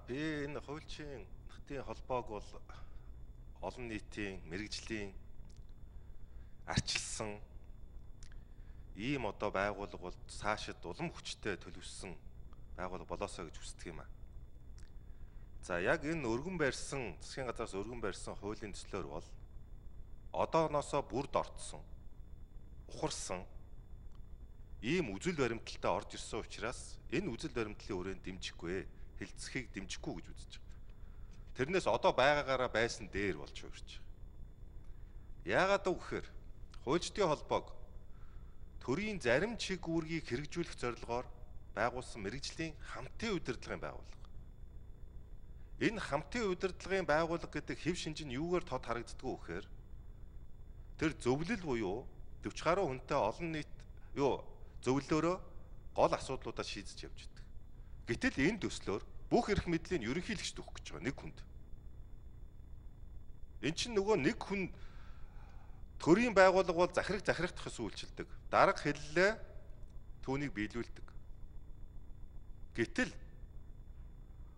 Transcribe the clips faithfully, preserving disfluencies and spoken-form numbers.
Би энэ хуульчийн нутгийн холбоог бол олон нийтийн мэрэгжлийн арчилсан ийм одоо байгууллага бол цаашид улам хүчтэй төлөвлөсөн байгууллага болоосоо гэж хүсдэг юм аа. За яг энэ өргөн барьсан засгийн газраас өргөн барьсан хуулийн төслөөр бол одооноосоо бүрд ортсон ухарсан ийм үзэл баримталтай орж ирсэн учраас энэ үзэл баримтлалын хүрээнд дэмжихгүй хэлцэхийг дэмжихгүй гэж үзэж байгаа. Тэрнээс одоо байгаагаараа байсан дээр болж өгч байгаа. Яагаад гэвэл хуульчдын холбоог төрийн зарим чиг үүргийг хэрэгжүүлэх зорилгоор байгуулсан мэрэгжлийн хамтын удирдлагын байгууллага. Энэ хамтын удирдлагын байгууллага гэдэг хэв шинж нь юугаар тод харагддаг вэ гэхээр тэр зөвлөл буюу дэвч гаруй хүнтэй олон нийт юу зөвлөлөөрөө гол асуудлуудаа шийдэж явж байдаг. Гэтэл энэ төслөөр бүх эрх мэдлийн ерөнхийлөгчд өгөх гэж байгаа нэг хүнд. Эн чинь нөгөө нэг хүн төрийн байгууллага бол захираг захирагдах ёс үйлчилдэг. Дарга хэллээ түүнийг биелүүлдэг. Гэтэл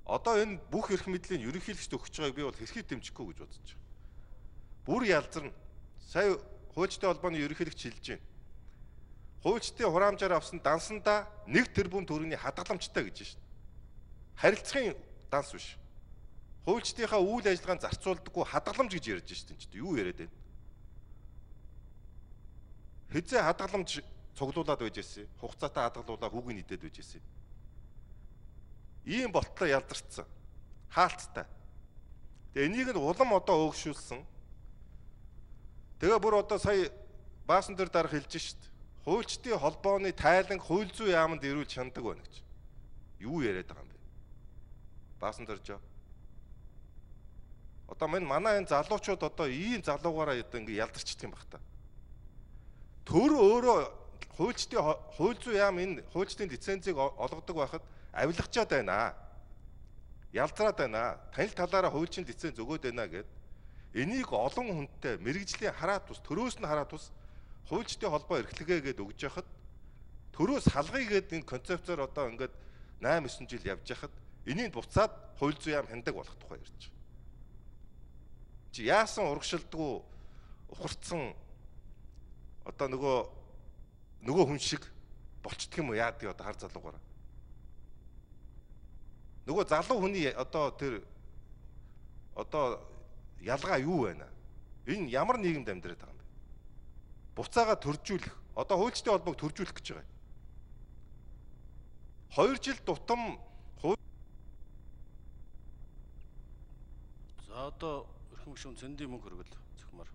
одоо энэ бүх эрх мэдлийн ерөнхийлөгчд өгч байгааг би бол хэрхий дэмжихгүй гэж бодож байгаа. Бүр ялзарна. Сая хуульчдын холбооны ерөнхийлөгч хэлж байна. Хуульчдын хураамжаар авсан дансандаа нэг тэрбум төгрөгийн хадгаламжтай гэж байна. Харилцахын данс биш. Хуульчдынхаа үйл ажиллагаанд зарцуулдаггүй хадгаламж гэж ярьж байна ч юу яриад байна. Хэзээ хадгаламж цуглуулад байж ирсэн. Хугацаатай хадгалуулаа хүүгийн нийтэд байж ирсэн. Ийм болтлоо ялдарцсан. Хаалттай. Тэгээ энийг нь улам одоо өөгшүүлсэн. Тэгээ бүр одоо сая баасан дээр дарах хэлж шít. Хуульчдын холбооны тайлан хууль зүйн яамд ирүүл чандаг байна гэж. Юу яриад байгаа юм бэ? Баасан дөржөө. Одоо мань манай энэ залуучууд одоо ийм залуугаараа одоо ингэ ялдарчдаг юм бах та. Төр өөрөө хуульчдын хууль зүйн яам энэ хуульчдын лицензийг олгодог байхад авилгачаад байна. Ялдраад байна. Танил талаараа хуульчийн лиценз өгөөд байна гэд. Энийг олон хүнтэй мэрэгжлийн хараа тус төрөөс нь хараа тус хуульчдын холбоо эрхлэгээ гээд өгж яхад төрөөс халгая гээд энэ концепцоор одоо ингээд восемь девять жил явж яхад энийг буцаад хууль зүйн яам хяндаг болох тухай ярьж байгаа. Чи яасан урагшилдгүй ухарцсан одоо нөгөө нөгөө хүн шиг болчдөг юм уу яадаг одоо хар залуугаараа. Нөгөө залуу хүний одоо тэр одоо ялгаа юу байна? Энэ ямар нийгэмд амьдраад байгаа юм бэ? Буцаага төржүүлэх. Одоо хуульчдын холбоог төржүүлэх гэж байгаа. Хоёр жил тутам За одоо өрхөн гүшүүн цэндийн мөнгө хөргөл зөвхмөр.